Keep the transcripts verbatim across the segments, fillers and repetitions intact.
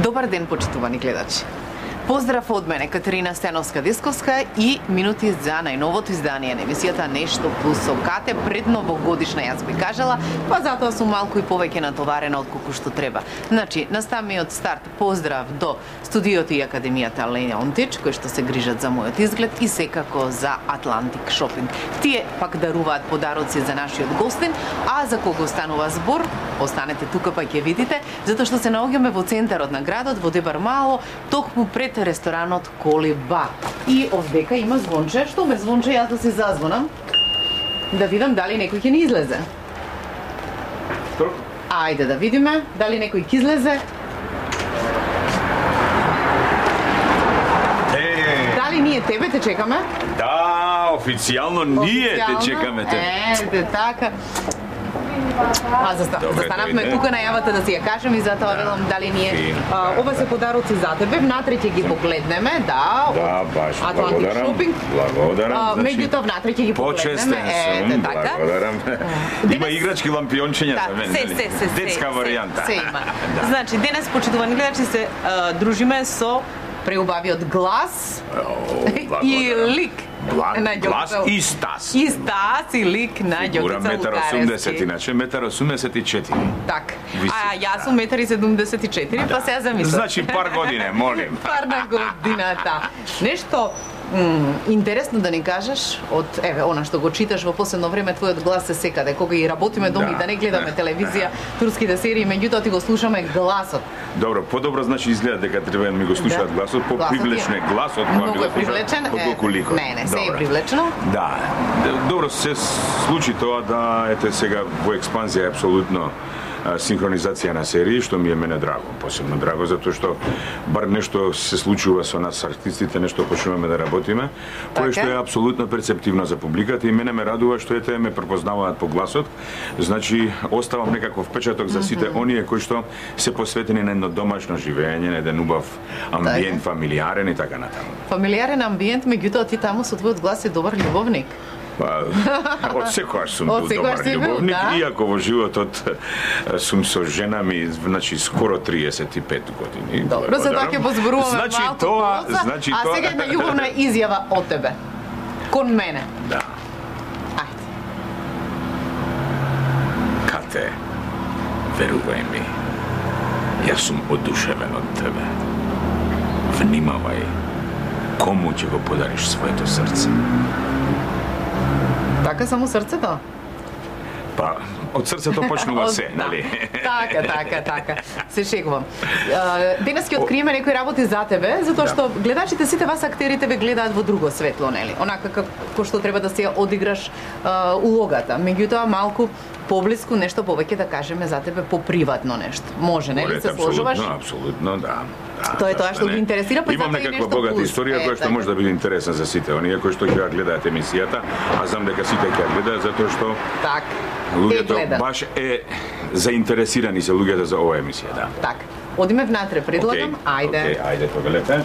Добар ден, почитувани гледачи. Поздрав од мене, Катерина Стеновска-Десковска и минути за најновото издание на емисијата Нешто плюс со Кате пред новогодишна, јас би кажала, па затоа сум малку и повеќе натоварена од колку што треба. Значи, на самиот старт поздрав до студиото и академијата Леонтич, кои што се грижат за мојот изглед и секако за Атлантик Шопинг. Тие пак даруваат подароци за нашиот гостин, а за кого станува збор, останете тука па ќе видите, затоа што се наоѓаме во центарот на градот, во Дебар Мало, токму пред ресторанот Колиба. И овдека има звонче, што ме звонче, јас да се зазвонам, да видам дали некој ќе ни излезе. Ајде да видиме дали некој ќе излезе. Е, Дали ние тебе те чекаме? да, официјално ние те чекаме те. Ете, така. А, заста, застанавме тука најавата да си ја кажем и затоа велам дали ние а, ова се подароци за тебе, внатре ќе ги погледнеме, да, Да, од баш, Атлантик благодарам. Шопинг. Благодарам. А, значи, меѓутоа внатре ќе ги Почестен погледнеме, ете сум, така. благодарам. Има Денес- играчки лампиончиња Да, за мене. се, нели? се, се, се, Детска се, варијанта. Се има. Значи, денес, почитувани гледачи, се а, дружиме со Преубавиот глас О, и благодарам. лик Глас, на глас Ѓокица- и стас. И стас и лик на Фигура Ѓокица метар осумдесет, Лукаревски. иначе метар осумдесет и четири. Так. Виси. А јас сум метар и седумдесет и четири, па сега замислам. Значи пар године, молим. Пар на годината. Нешто м, интересно да ни кажеш од еве она што го читаш во последно време, твојот глас е секаде. Кога и работиме дома Да, и да не гледаме да, телевизија, турските серии, меѓутоа ти го слушаме гласот. Добро, подобро значи изгледа дека треба да ми го слушаат Да. гласот, Гласот попривлечен е е гласот, кога ми Многу го е привлечен. слушаат, е, отколку ликот. Не, не, се е Добро. привлечено. Да, добро се случи тоа да ете сега во експанзија е апсолутно а, синхронизација на серии, што ми е мене драго, посебно драго, затоа што бар нешто се случува со нас артистите, нешто почнуваме да работиме, Така. кој што е апсолутно перцептивно за публиката и мене ме радува што ете ме препознаваат по гласот, значи оставам некаков впечаток за сите оние кои што се посветени на едно домашно живење, на еден убав амбиент, фамилиарен и така натаму. Фамилиарен амбиент, меѓутоа ти таму со твојот глас е добар љубовник. Па, од секојаш сум Од бил секогаш добар си бил, љубовник, да. иако во животот е, сум со жена ми, значи скоро триесет и пет години. Добро, за тоа ќе позборуваме значи, малку тоа, поза, значи а тоа... сега една љубовна изјава од тебе. Кон мене. Да. Ајде. Кате, верувај ми, јас сум одушевен од тебе. Внимавај, кому ќе го подариш своето срце. Така само срцето? Па, од срцето почнува Од- се, да. нали? Така, така, така. Се шегувам. А, Денес ќе откриеме некои работи за тебе, затоа Да. што гледачите, сите вас актерите ве гледаат во друго светло, нели? Онака како што треба да се ја одиграш а, улогата. Меѓутоа малку поблиску нешто повеќе да кажеме за тебе поприватно нешто. Може, нели? Се сложуваш? Апсолутно, апсолутно, да. да. Тоа е тоа зашто што ги не? интересира, па Имам затоа и некаква нешто богата плюс. историја Е, која што така. може да биде интересна за сите оние кои што ќе ја гледаат емисијата, а знам дека сите ќе ја гледаат затоа што Так. Те луѓето гледат. баш е заинтересирани се луѓето за оваа емисија, да. Так. Одиме внатре, предлагам. Океј, Ајде. океј, ајде, повелете.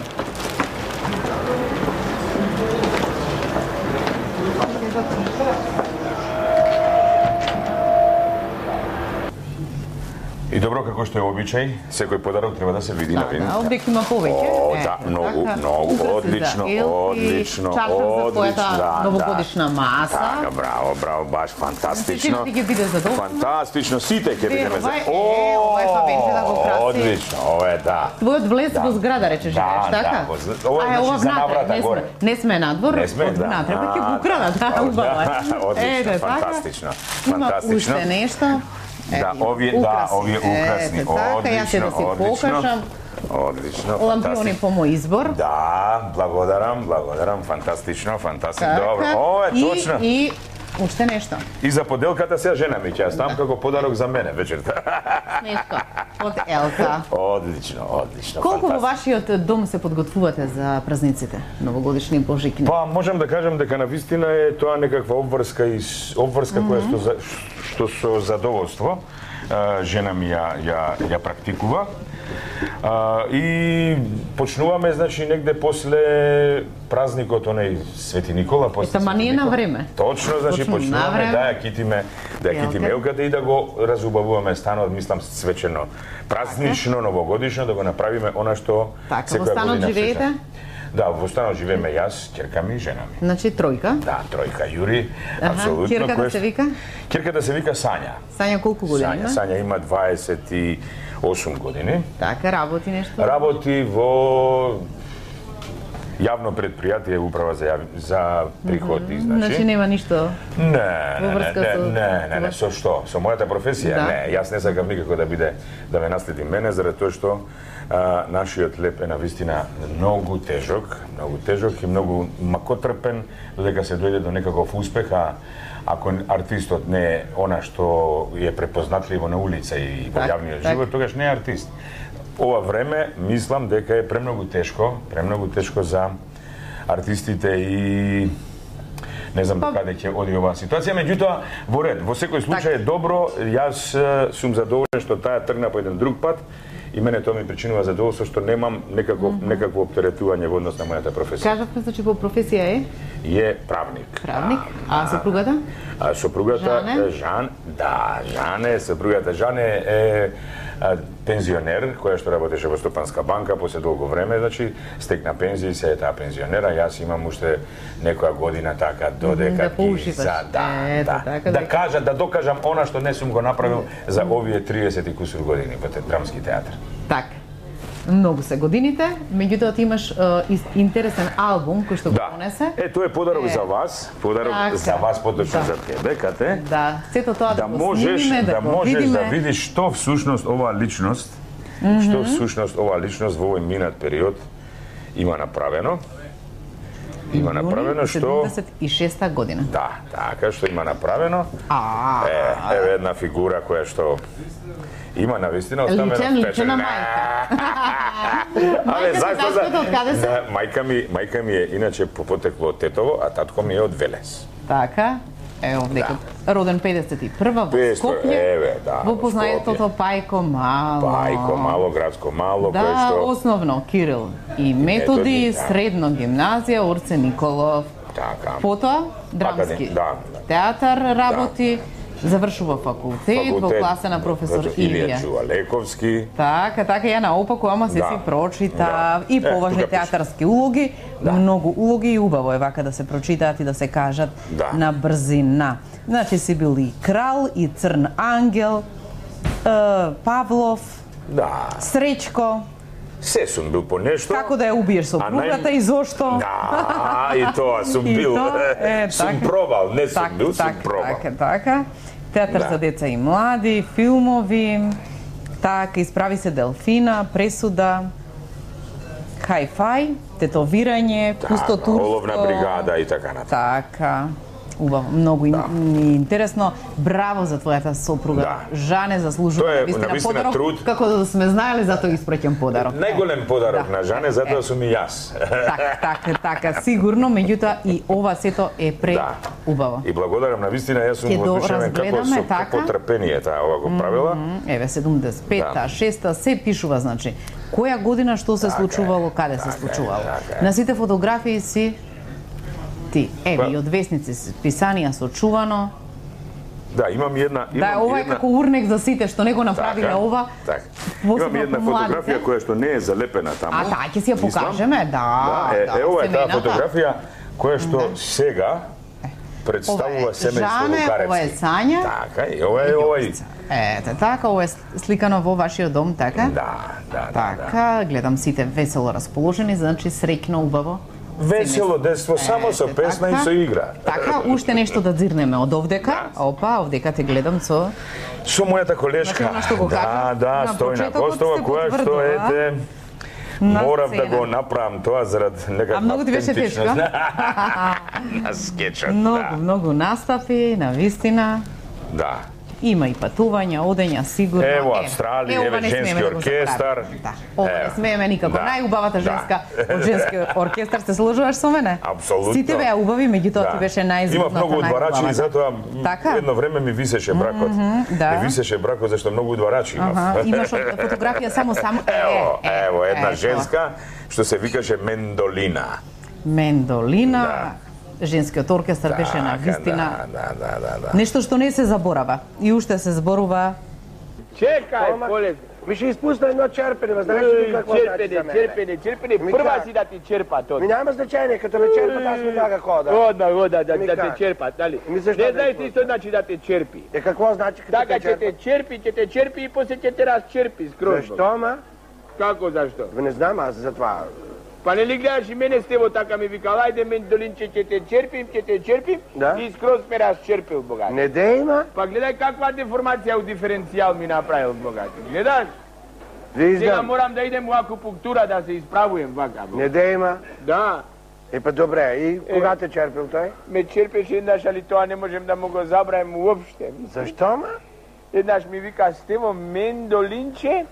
И добро, како што е обичај, секој подарок треба да се види на вин. Да, обик има повеќе. О, Е, да, многу, така. многу, Украси за одлично, елки, одлично, чашка за одлично, твојата да, новогодишна да. маса. Така, браво, браво, баш фантастично. Ти ќе биде задоволен. Фантастично, сите ќе бидеме за... Ова е, е, ова е Фабенче да го краси. Одлично, ова е, да. Твојот влез во зграда, рече живееш, Да, така? да, во- ова е, А, значи, за внатре, наврата не горе. сме- Не сме надвор, Не сме, од да. внатре, па ќе А, го украдат, да, да, убаво е. одлично, Ете, така. фантастично, Има фантастично. уште нешто. Да, Ето, овие, да, украси. овие украсни, Ете, така, јас ќе одлично, да си одлично. покажам. Одлично, Лампиони фантастично. по мој избор. Да, благодарам, благодарам, фантастично, фантастично, Така, добро. О, е и- точно. И уште нешто. И за поделката сега жена ми ќе ја ставам како подарок за мене вечерта. Нешто од Елка. Одлично, одлично. Колку во фантастично. вашиот дом се подготвувате за празниците, новогодишни и божикни? Па можам да кажам дека на вистина е тоа некаква обврска и с- обврска mm -hmm. која што за- што со задоволство а, жена ми ја ја ја практикува. А, и почнуваме, значи, негде после празникот, оној Свети Никола, после Ета, ма ние на време. Точно, значи, Точно, почнуваме да ја китиме, да ја китиме Елката. елката и да го разубавуваме станот, мислам, свечено, празнично, новогодишно, да го направиме она што Така, во секоја станот година живеете? свечаме. Да, во станот живееме јас, ќерка ми и жена ми. Значи тројка. Да, тројка Јури, Аха, апсолутно. ќерката кој се што- вика? Ќерката се вика Сања. Сања колку години Сања, има? Сања има дваесет и осум години. Така, работи нешто? Работи во јавно предпријатие управа за јави, за приходи, значи. Значи нема ништо. Не, Во не, не, врска не, со- не, не, не, со што? Со мојата професија? Да. Не, јас не сакам никако да биде да ме наследи мене, заради тоа што а, нашиот леп е навистина многу тежок, многу тежок и многу макотрпен додека се дојде до некаков успех, а ако артистот не е она што е препознатливо на улица и во Так, јавниот так. живот, тогаш не е артист. Ова време мислам дека е премногу тешко, премногу тешко за артистите и не знам Па- до каде ќе оди оваа ситуација, меѓутоа во ред, во секој случај е добро, јас е, сум задоволен што таа тргна по еден друг пат и мене тоа ми причинува задоволство што немам некакво некакво оптеретување во однос на мојата професија. Кажавме, значи по професија е Е правник. правник, а сопругата? А сопругата Жане? Жан, да, Жане, сопругата Жане е а, пензионер која што работеше во Стопанска банка после долго време, значи стекна пензија и се е таа пензионера. Јас имам уште некоја година така додека да ги поуживаш. за да, Ето, да, така да дека- кажа, да докажам она што не сум го направил за овие триесет и кусур години во те- драмски театар. Така. Многу се годините, меѓутоа ти имаш е, ис- интересен албум кој што го Да. донесе. Е, тоа е подарок Е. за вас, подарок Така. за вас поточно Да. за тебе, кате. Да, сето тоа да, Да го можеш, снимиме, да, да го можеш видиме. да видиш што всушност оваа личност, што всушност оваа личност во овој минат период има направено. Има направено што седумдесет и шеста година. да, така што има направено. А, Е, еве една фигура која што има навистина оставена Личен, личена впечатлена. мајка. Абе, Мајка ти зашто за... таткото од каде се? Да, мајка ми, мајка ми е иначе по потекло од Тетово, а татко ми е од Велес. Така, ево, дека роден педесет и прва во педесет, Скопје, еве, да, во во познаетото Пајко Мало. Пајко мало, градско мало, кој Да, што основно Кирил и Методи, Методи, да. средно гимназија Орце Николов. така. Потоа драмски Академ- да, театар работи, завршува факултет, во класа на професор Илија Илија. Джувалековски. Така, така, ја наопаку, ама се Да. си прочитав Да. и Е, поважни тука пише. театарски улоги, многу улоги и убаво е вака да се прочитаат и да се кажат Да. на брзина. Значи си бил и крал, и црн ангел, е, Павлов, Да, Среќко, се сум бил по нешто. како да ја убиеш сопругата нај- и зошто. Да, и тоа сум И бил. тоа, е, Сум така. пробал, не сум Так, бил, сум так, пробал. Така, така. Театар Да. за деца и млади, филмови, така, Исправи се Делфина, Пресуда, Хај-фај, тетовирање, пустотурско. Оловна бригада и така натаму. Така. Убаво, многу да. интересно. Браво за твојата сопруга. Да. Жане заслужува Тоа е, навистина навистина, подарок. труд. Како да сме знаеле, затоа испраќам подарок. Најголем подарок Да. на Жане, затоа сум и јас. Така, така, така, сигурно, меѓутоа и ова сето е пре Да. убаво. И благодарам на вистина, јас сум Ќе го воодушевен како разгледаме, со така? како трпение таа ова го правила. Еве седумдесет и пета, Да. шеста се пишува, значи. Која година што се Така е, случувало, каде така се е, случувало. така е. На сите фотографии си ти. Еве Па- и од весници си писанија со чувано. Да, имам една, имам Да, ова е една... како урнек за сите што не го направиле Така, ова. така. посебно Имам една по младите. фотографија која што не е залепена таму. А, да, ќе си ја мислам. покажеме, да, Да, е, да, е ова е таа семејната. фотографија која што сега представува Ова е семејство Жане, Лукаревски. ова е Сања. Така, и ова е овој. Ете, така, ова е сликано во вашиот дом, така? Да, да, да, да. Така, гледам сите весело расположени, значи среќно, убаво. Весело детство, само со Ете, песна и така. со игра. Така, уште нешто да дзирнеме од овдека. Да. Опа, овдека те гледам со... Со мојата колешка. Значи, она што го да, кажа, да, на Стојна почетокот Костова, се која што потврдува ете на морав да сцена. го направам тоа зарад некаква А многу ти беше автентичност. тешко? На скечот, Многу, да. многу настапи, на вистина. Да. Има и патувања, одења, сигурно. Ево Австралија, е, еве не женски смееме да го оркестар. заборавиме. Да. Ова не Ево. смееме никако. Да. Најубавата Да. женска од женски оркестар, се сложуваш со мене? Апсолутно. Сите беа убави, меѓутоа ти беше најзгодната, Има многу удварачи и затоа така? едно време ми висеше бракот. Mm -hmm, да. Ми висеше бракот зашто многу удварачи имав. Ага, имаш од фотографија само само Ево, е, ево една е, женска што се викаше Мендолина. Мендолина. Да. Женскиот оркестар беше на Така, вистина Да, да, да, да, да. нешто што не се заборава и уште се зборува. Чекај, поле. Ми ще изпусна едно черпене, ма знаеш ли какво значи Черпене, за мене? черпене, черпене, Ми прва как? си да ти черпат од. Ми няма значение, като ме черпат, аз ми дага хода. Ода, ода, да, Ми да как? те черпат, дали? Ми защо Не да знаеш те ли што значи да те черпи? Е, какво значи като Така те ќе те черпат? черпи, ќе те черпи и после ќе те разчерпи скроз. Защо, ма? Како зашто? Бе, не знам аз за това. Па не ли гледаш и мене Стево така ми викал, ајде Мендолинче ќе те черпим, ќе те черпим Да. и скроз ме разчерпил богат. Не де има? Па гледај каква деформација у диференцијал ми направил богат. Гледаш? Сега Виждам. морам да идем у акупунктура да се исправуjem вака. бо. Не де има? Да. Е, па добре, и кога те черпил той? Ме черпеше еднаш, али тоа не можем да му го забравим уопште. Защо, ма? Еднаш ми вика Стево, Мендолинче,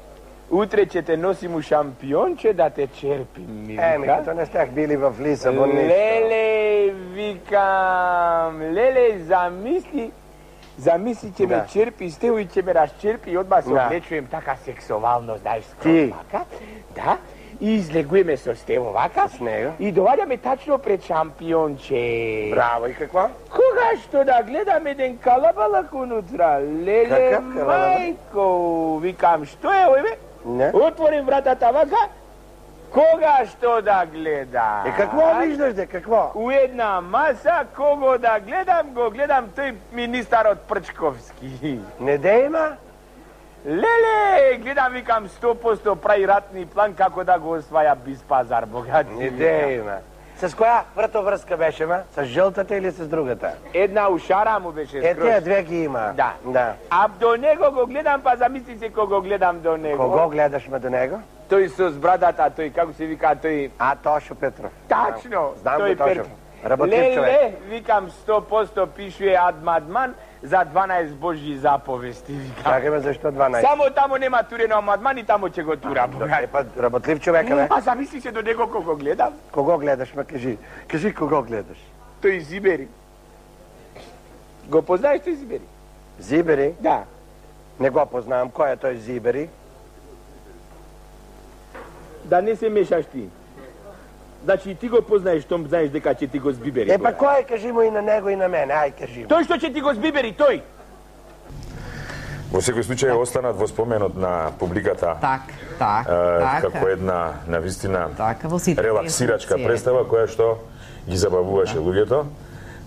утре ќе те носим у шампионче да те черпим, ми Е, ми вика. като не стях били в Лисабон, нищо. Леле, викам, леле, замисли, замисли ќе ме Да. черпи Стево и ќе ме разчерпи и одма се Да. облечуjem така сексуално, знаеш, скроз Ти? вака. Да, и излегуваме со Стево вака. С него? И доваѓаме тачно пред шампионче. Браво, и какво? Кога што да гледам еден калабалак унутра, леле, Какав калабалак? мајко, викам, што е ој бе? Не? Отворим вратата вака, кога што да гледам? Е, какво виждаш, де, какво? У една маса, кого да гледам, го гледам тој министарот Прчковски. Не де има? Леле, гледам, викам, сто проценти прави ратни план како да го осваја без пазар, богат. Не де има. С која вратовръзка беше, ма? С жълтата или с другата? Една ушара му беше Е, скроз. тия две ги има. Да. Да. А до него го гледам, па замисли се кого гледам до него. Кого гледаш ме до него? Тој со брадата, тој, како се вика, тој... А, Тошо Петров. Тачно! Знам тој го Тошо. Пер- Работлив Леле, човек. викам, сто проценти пишуе Адмадман за дванаесет Божји заповести, викам. Чакай ме, защо дванаесет? Само таму нема турено Адмадман и таму ќе го тура, Е, богат. па, работлив човека, бе. А замисли се до него кого гледам? Кого гледаш, ме кажи. Кажи кого гледаш. Тој Зибери. Го познаеш тој Зибери? Зибери? Да. Не го познавам. Кој е тој Зибери? Да не се мешаш ти. Значи ти го познаеш, том знаеш дека ќе ти го збибери. Е, па богат. кој е? Кажи му и на него и на мене. Ај, кажи му. Тој што ќе ти го збибери, тој. Во секој случај останат во споменот на публиката Так, так, е, така. како една навистина Така, во сите релаксирачка институции. представа која што ги забавуваше луѓето.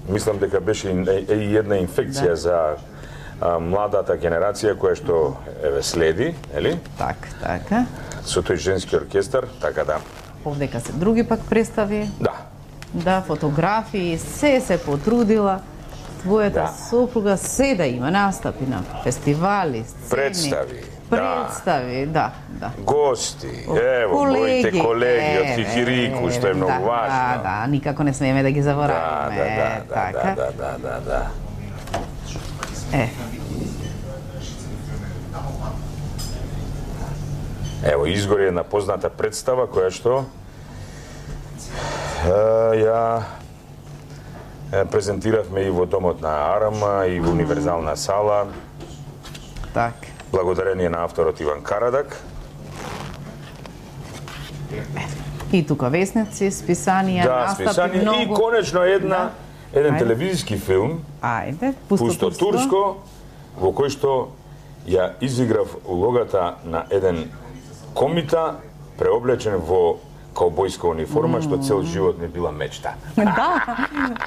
Мислам дека беше и, е, и една инфекција Да. за а, младата генерација која што еве следи, нели? Так, така. Со тој женски оркестар, така да. Овдека се други пак представи. Да. Да, фотографии, се се потрудила. Твојата Да. сопруга се да има настапи на фестивали, сцени. Представи, да. Представи, да, да. Гости, ево, моите колеги од еве, Кикирику, што е многу да, важно. Да, да, никако не смееме да ги Да, забораваме. да, да, да, така. да, да, да, да. Е, Ево, изгори една позната представа која што е, ја е, презентиравме и во домот на Арама и во универзална сала, так. благодарение на авторот Иван Карадак. И тука весници, списанија, Да, настапи списание многу. и конечно една еден Ајде. телевизиски филм Ајде, пусто, Пусто турско, во кој што ја изиграв улогата на еден комита преоблечен во каубојска униформа, што цел живот ми била мечта. Да,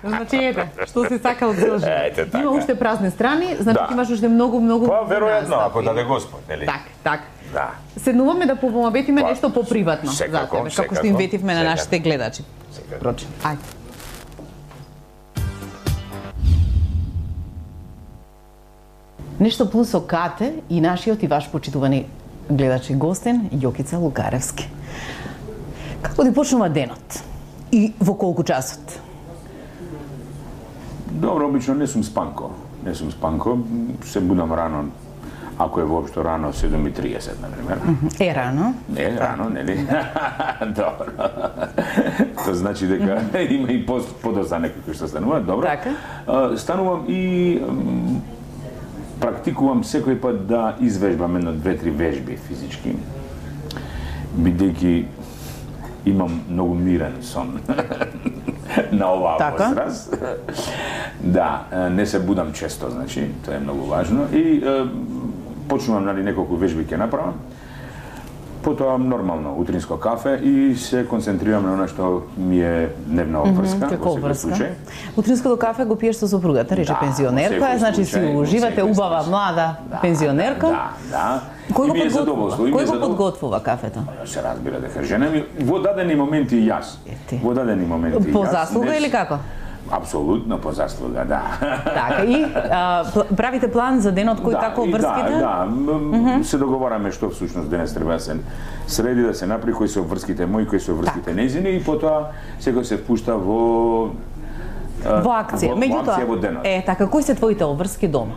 значи ете, што си сакал цел живот. Ете, така. Има уште празни страни, значи Да. ти имаш уште многу, многу Па, веројатно, настапи. ако даде Господ, нели? Так, так. Да. Седнуваме да помобетиме Па, нешто поприватно за секако, тебе, како што секако, им ветивме на секако. нашите гледачи. Секако. Прочи, ајде. Нешто плюс со Кате и нашиот и ваш почитувани гледачи гостин Јокица Лукаревски. Како да почнува денот? И во колку часот? Добро, обично не сум спанко. не сум спанко, се будам рано, ако е воопшто рано, седум и триесет, например. Е рано? Не, рано, нели? Добро. Тоа значи дека има и подоцна некои кои што стануваат, добро. Така. Станувам и практикувам секој пат да извежбам едно две-три вежби физички, бидејќи имам многу мирен сон на оваа така? возраст. Да, не се будам често, значи, тоа е многу важно. И почнувам, нали, неколку вежби ќе направам, потоа нормално утринско кафе и се концентрирам на она што ми е дневна обврска. Mm -hmm, како обврска? Утринското кафе го пиеш со сопругата, рече да, пензионерка, значи си уживате убава млада да, пензионерка. Да, да. Кој го ми е подготвува? Кој го подготвува кафето? Се разбира дека жена ми во дадени моменти и јас. Во дадени моменти и јас. По заслуга не... или како? Апсолутно по заслуга, да. Така, и а, правите план за денот кој да, како обврските? Да, да, mm -hmm. се договараме што всушност денес треба да се среди, да се направи кои се обврските мои, кои се обврските нејзини и потоа секој се впушта во во акција. Во, Меѓутоа, во акција во денот. Е, така, кои се твоите обврски дома?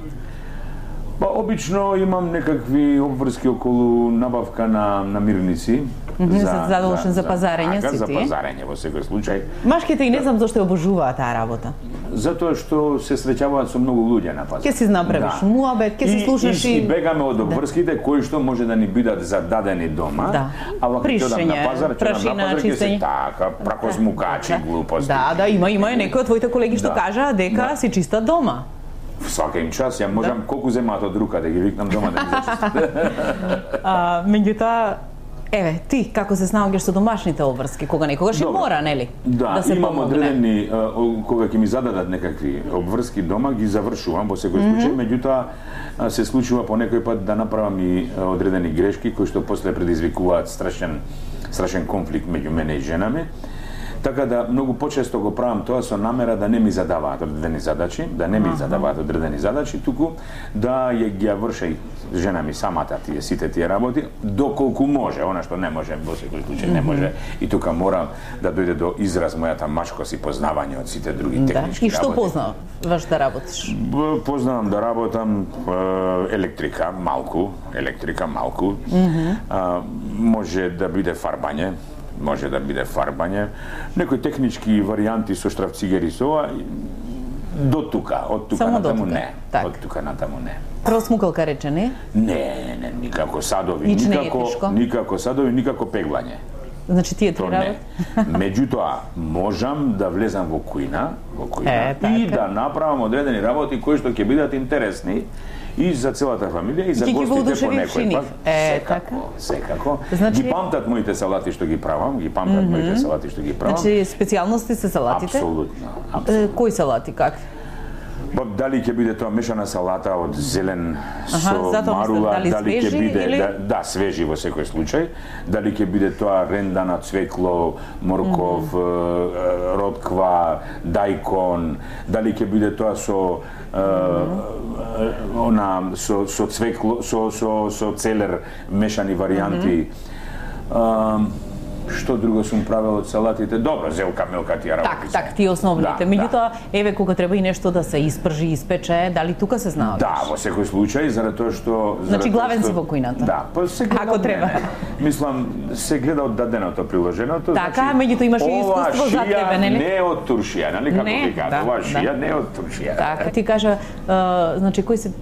Па обично имам некакви обврски околу набавка на намирници. Mm -hmm, за, задолжен за, за пазарење така, си за ти? пазарење во секој случај. Машките и не знам зошто ја обожуваат таа работа. Затоа што се среќаваат со многу луѓе на пазар. Ќе си направиш да. муабет, ќе си слушаш и... И бегаме од обврските да. кои што може да ни бидат зададени дома, да. а вака ќе одам на пазар, ќе одам на пазар, ќе се така, пракозмукачи, да. глупости. Да, да, има, има некои од твоите колеги што да. кажа дека да. си чиста дома. Свака им час, ја можам да. колку земаат од рука да ги викнам дома да ги зачистат. А, меѓутоа, еве, ти како се снаоѓаш со домашните обврски, кога некогаш и мора, нели? Да, да се имам помогне. одредени, кога ќе ми зададат некакви обврски дома, ги завршувам во секој случај, mm -hmm. меѓутоа се случува по некој пат да направам и одредени грешки кои што после предизвикуваат страшен страшен конфликт меѓу мене и жена ми. Така да многу почесто го правам тоа со намера да не ми задаваат одредени задачи, да не ми задаваат одредени задачи, туку да ја ги ја врши жена ми самата тие сите тие работи, доколку може, она што не може во секој случај не може. И тука мора да дојде до израз мојата машкост и познавање од сите други технички да. И што работи. познаваш да работиш? Познавам да работам електрика малку, електрика малку. Mm -hmm. а, може да биде фарбање, може да биде фарбање, некои технички варијанти со штрафцигери со ова, до тука, од тука само натаму тука. не, так. од тука натаму не. Просмукалка рече, не? Не, не, никако садови, Ич никако, никако садови, никако пеглање. Значи тие три работи? Меѓутоа, можам да влезам во кујна, во кујна е, и да направам одредени работи кои што ќе бидат интересни и за целата фамилија и за Ки гостите по некој пат. Е, секако, така? секако. Значи... Ги памтат моите салати што ги правам, ги памтат mm -hmm. моите салати што ги правам. Значи специјалности се салатите? Апсолутно, апсолутно. Кои салати, какви? Па дали ќе биде тоа мешана салата од зелен Аха, со марула, дали, дали ќе биде или... да, да свежи во секој случај, дали ќе биде тоа рендана цвекло, морков, mm -hmm. ротква, дајкон, дали ќе биде тоа со mm -hmm. она со со цвекло, со со со целер мешани варијанти. Mm -hmm. Што друго сум правел од салатите? Добро, зелка, мелка, тие работи. Так, так, тие основните. Да, Меѓутоа, да. еве кога треба и нешто да се испржи, испече, дали тука се знаеш? Да, во секој случај, заради тоа што... Значи главен си во кујната? Да, па се гледа ако треба. Не, мислам, се гледа од даденото приложеното. Така, значи, меѓутоа имаш и искуство за тебе, нели? Не од туршија, нели како не, ви кажа, да, ова шија да. не од туршија. Така, ти кажа, uh, значи кои се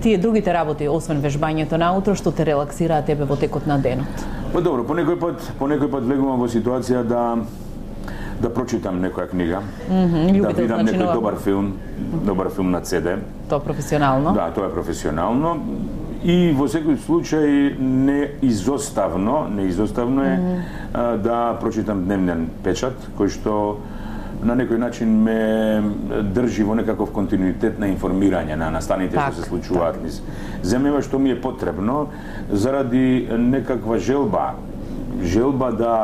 тие другите работи освен вежбањето наутро што те релаксираат тебе во текот на денот? Па добро, по некој пат, по некој пат влегувам во ситуација да да прочитам некоја книга, mm -hmm, да видам значи, некој нова... добар филм, добар филм на Це Де. Тоа професионално? Да, тоа е професионално. И во секој случај не изоставно, не изоставно е mm -hmm. а, да прочитам дневен печат кој што на некој начин ме држи во некаков континуитет на информирање на настаните так, што се случуваат низ земјава, што ми е потребно заради некаква желба, желба да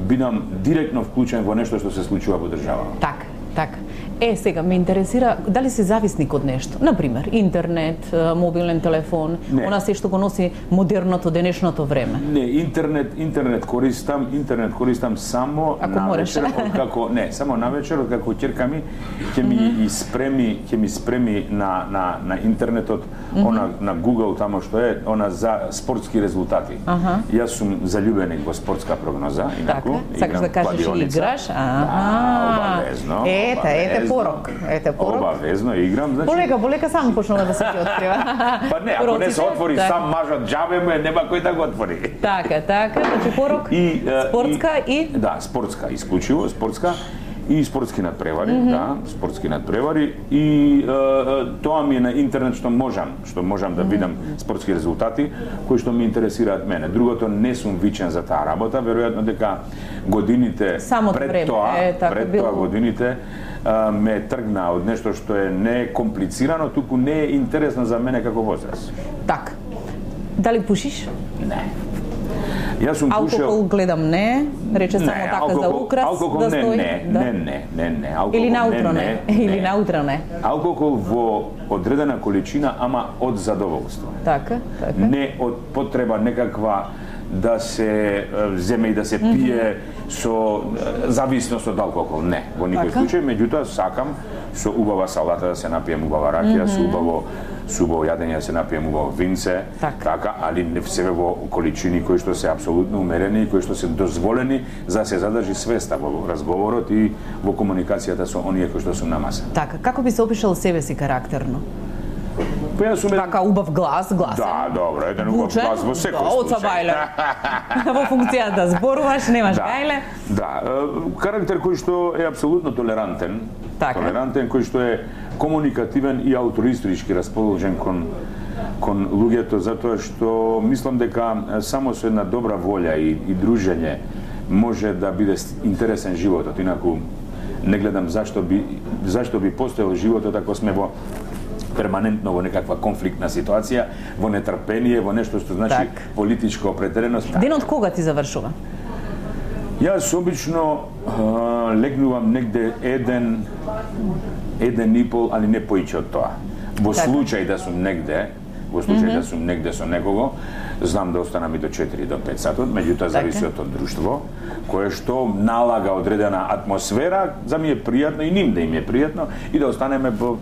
бидам директно вклучен во нешто што се случува во државата. Так, так. Е, сега ме интересира дали си зависник од нешто. Например, интернет, мобилен телефон, Не. она се што го носи модерното денешното време. Не, интернет, интернет користам, интернет користам само Ако на можеш. вечер, како не, само на вечер, како ќерка ми ќе ми mm -hmm. спреми, ќе ми спреми на на на интернетот, mm -hmm. она на Google тамо што е, она за спортски резултати. Аха. Јас сум залюбеник во спортска прогноза, инаку. Така, сакаш да кажеш и играш? Да, обавезно. Ете, ете обавезно. порок. Ете порок. Обавезно играм, значи. Полека, полека сам почнува да се ти открива. Па не, ако не се отвори така. сам мажот џабе му е, нема кој да го отвори. Така, така, значи порок, И, е, спортска и... и... Да, спортска, исклучиво спортска и спортски надпревари, mm -hmm. да, спортски надпревари и е, тоа ми е на интернет што можам, што можам да видам спортски резултати кои што ми интересираат мене. Другото не сум вичен за таа работа, веројатно дека годините Самото пред време, тоа, е, така пред било. тоа годините а, ме тргна од нешто што е не комплицирано, туку не е интересно за мене како возраст. Така. Дали пушиш? Не. Јас сум пушел... Алкохол гледам не, рече само Не, така за украс алкохол да не, стои. не, да. не, не, не, не, алкохол Или наутро не, не, или наутро не. Алкохол во одредена количина, ама од задоволство. Така, така. Не од потреба некаква да се е, земе и да се пие со е, зависност од алкохол. Не, во никој Така. случај, меѓутоа сакам со убава салата да се напием убава ракија, со убаво со убаво јадење да се напием убаво винце, Така. така, али не себе во количини кои што се апсолутно умерени и кои што се дозволени за да се задржи свеста во разговорот и во комуникацијата со оние кои што се на маса. Така, како би се опишал себе си карактерно? Па јас сум Така убав глас, гласен. Да, добро, еден убав Вучен? глас во секој Да, оца случај. бајле. Во функција да зборуваш, немаш Да. гајле. Да, е, карактер кој што е апсолутно толерантен, Така. толерантен кој што е комуникативен и аутористички расположен кон кон луѓето, затоа што мислам дека е, само со една добра волја и, и дружење може да биде с- интересен животот, инаку не гледам зашто би зашто би постоел животот ако сме во перманентно во некаква конфликтна ситуација, во нетрпение, во нешто што значи Так. политичка определеност. Денот кога ти завршува? Јас обично а, легнувам негде еден, еден и пол, али не поиќе од тоа. Во Така. случај да сум негде, во случај mm -hmm. да сум негде со некого, знам да останам и до четири до пет сатот, меѓутоа зависи од тоа друштво, кое што налага одредена атмосфера, за ми е пријатно и ним да им е пријатно и да останеме во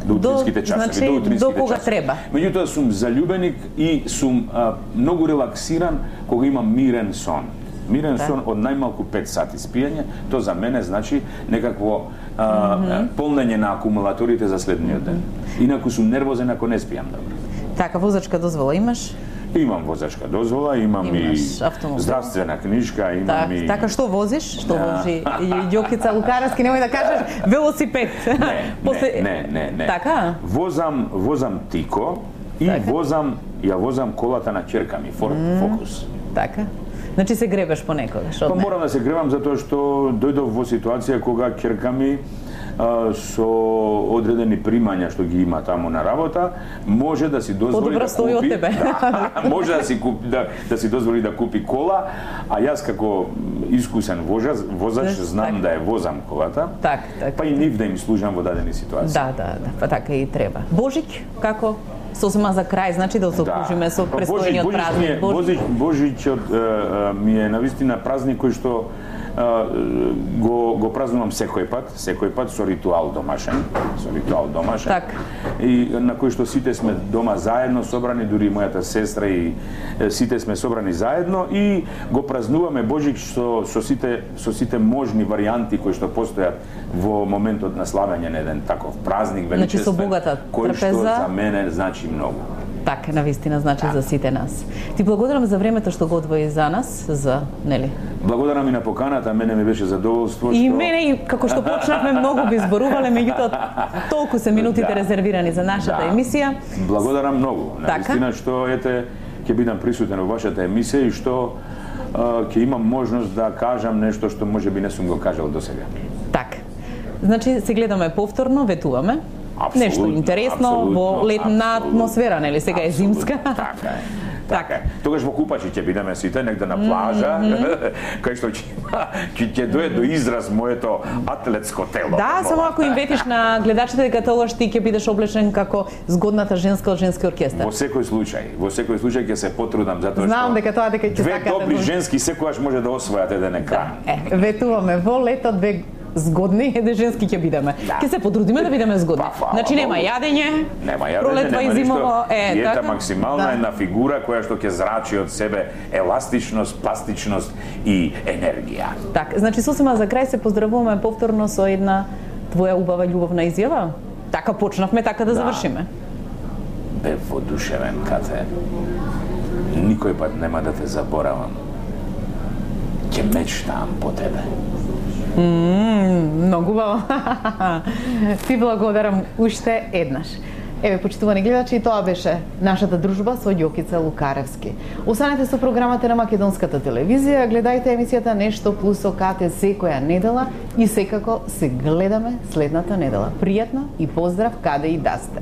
до утринските часови, значи, до утринските до кога часови. треба. Меѓутоа сум заљубеник и сум а, многу релаксиран кога имам мирен сон. Мирен Да. сон од најмалку пет сати спиење, то за мене значи некакво а, mm -hmm. полнење на акумулаторите за следниот ден. Инаку сум нервозен ако не спијам добро. Така, возачка дозвола имаш? Имам возачка дозвола, имам Имаш и автомобил. здравствена книжка, имам Так, и... така што возиш? Што возиш? Ѓокица Лукаровски, немој да кажеш велосипед. Не, После- не, не, не, не. Така? Возам, возам Тико и Така. возам, ја возам колата на ќерка ми, Ford Focus. Така. Значи се гребеш понекогаш Па од неа. морам да се гревам затоа што дојдов во ситуација кога ќерка ми а, со одредени примања што ги има таму на работа, може да си дозволи Подобро да стои од купи, тебе. да, може да си купи да, да си дозволи да купи кола, а јас како искусен возач, возач Да, знам така. да ја возам колата. Така, така. Па и нив да им служам во дадени ситуации. Да, да, да, па така и треба. Божик, како? Сосема за крај, значи да се окружиме со Па престојниот Божич- празник. Божич, Божичот е, е, ми е навистина празник кој што е, го го празнувам секој пат, секој пат со ритуал домашен, со ритуал домашен. Така. И на кој што сите сме дома заедно собрани, дури и мојата сестра и е, сите сме собрани заедно и го празнуваме Божик со со сите со сите можни варијанти кои што постојат во моментот на славење на еден таков празник Значи, со величествен, богата кој што трпеза. за мене значи многу. Така, навистина значи за сите нас. Ти благодарам за времето што го одвои за нас, за, нели? Благодарам и на поканата, мене ми беше задоволство И што мене, и како што почнавме, многу би зборувале, меѓутоа толку се минутите Да. резервирани за нашата Да. емисија. Благодарам многу. Така. Наистина што ете ќе бидам присутен во вашата емисија и што а, ќе имам можност да кажам нешто што можеби не сум го кажал досега. Така. Значи се гледаме повторно, ветуваме. Апсолутно, Нешто интересно апсолутно, во летна апсолутно. атмосфера, нели? Сега е зимска. Така е. Така. Тогаш во купачи ќе бидеме сите негде на плажа, кај што ќе ќе ќе дое до израз моето атлетско тело. Да, само ако им ветиш на гледачите дека тогаш ти ќе бидеш облечен како згодната женска од женски оркестар. Во секој случај, во секој случај ќе се потрудам затоа што Знам дека тоа дека ќе две сакате. добри женски секогаш може да освојат еден екран. Е, ветуваме во лето две згодни, еден женски ќе бидеме. Да. Ќе се потрудиме да бидеме згодни. Па, фала Значи нема Богу. јадење, Нема јадење, пролетва и нема зимово, ништо. е, Диета така? максимална, Да. една фигура која што ќе зрачи од себе еластичност, пластичност и енергија. Так, значи сосема за крај се поздравуваме повторно со една твоја убава љубовна изјава. Така почнавме, така да, Да. завршиме. Бе водушевен, Кате. Никој пат нема да те заборавам. Ќе мечтаам по тебе. Мм, многу убаво. Ти благодарам уште еднаш. Еве, почитувани гледачи, тоа беше нашата дружба со Ѓокица Лукаревски. Останете со програмата на Македонската телевизија, гледајте емисијата Нешто плюс со Кате секоја недела и секако се гледаме следната недела. Пријатно и поздрав каде и да сте.